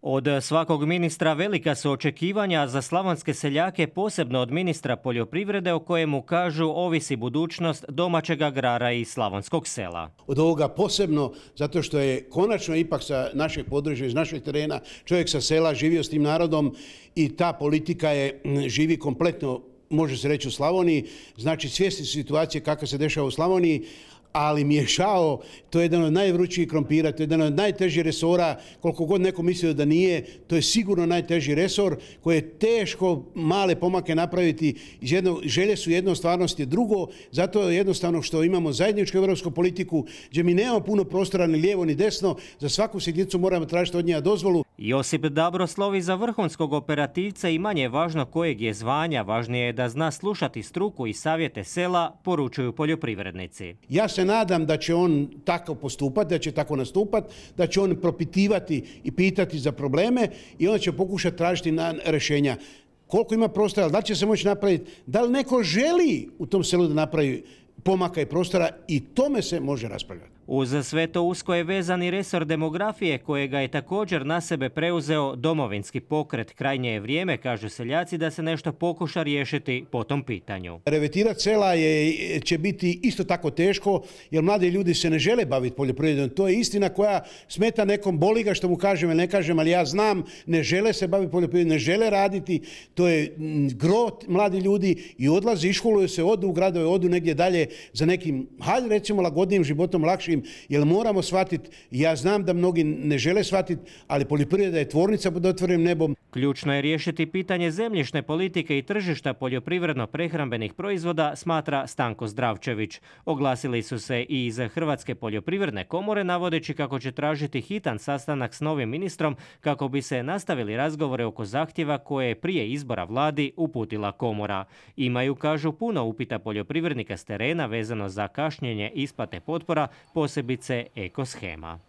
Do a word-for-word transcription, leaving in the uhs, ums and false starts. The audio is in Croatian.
Od svakog ministra velika su očekivanja za slavonske seljake, posebno od ministra poljoprivrede, o kojemu kažu ovisi budućnost domaćeg agrara i slavonskog sela. Od ovoga posebno zato što je konačno ipak sa našeg područja, iz našeg terena, čovjek sa sela živio s tim narodom i ta politika je živi kompletno, može se reći, u Slavoniji. Znači svjesni situacije kakva se dešava u Slavoniji, ali mi je žao, to je jedan od najvrućijih krompira, to je jedan od najtežih resora, koliko god neko mislio da nije, to je sigurno najteži resor koji je teško male pomake napraviti. Iz jedno, želje su jedno, stvarnost je drugo, zato je jednostavno što imamo zajedničku europsku politiku gdje mi nemamo puno prostora ni lijevo ni desno, za svaku sitnicu moramo tražiti od njega dozvolu. Josip Dabro slovi za vrhunskog operativca i manje važno kojeg je zvanja, važnije je da zna slušati struku i savjete sela, poručuju poljoprivrednici. Ja se nadam da će on tako postupati, da će tako nastupati, da će on propitivati i pitati za probleme i onda će pokušati tražiti na rješenja. Koliko ima prostora, da li će se moći napraviti, da li neko želi u tom selu da napravi pomaka i prostora, i tome se može raspravljati. Uz sve to usko je vezan i resor demografije, kojega je također na sebe preuzeo Domovinski pokret. Krajnje je vrijeme, kažu seljaci, da se nešto pokuša riješiti po tom pitanju. Revetirati sela je, će biti isto tako teško, jer mladi ljudi se ne žele baviti poljoprivredom. To je istina koja smeta nekom, boli ga što mu kažem ili ne kažem, ali ja znam, ne žele se baviti poljoprivredom, ne žele raditi. To je gro mladi ljudi i odlazi, iškoluju se, odu u gradove, odu negdje dalje za nekim, hajde recimo, lagodnijim životom, lakšim, jer moramo shvatiti, ja znam da mnogi ne žele shvatiti, ali poljoprivreda je tvornica pod otvorenim nebom. Ključno je riješiti pitanje zemljišne politike i tržišta poljoprivredno-prehrambenih proizvoda, smatra Stanko Zdravčević. Oglasili su se i iz Hrvatske poljoprivredne komore, navodeći kako će tražiti hitan sastanak s novim ministrom kako bi se nastavili razgovore oko zahtjeva koje je prije izbora vladi uputila komora. Imaju, kažu, puno upita poljoprivrednika s terena vezano za kašnjenje isplate potpora, posebice ekoshema.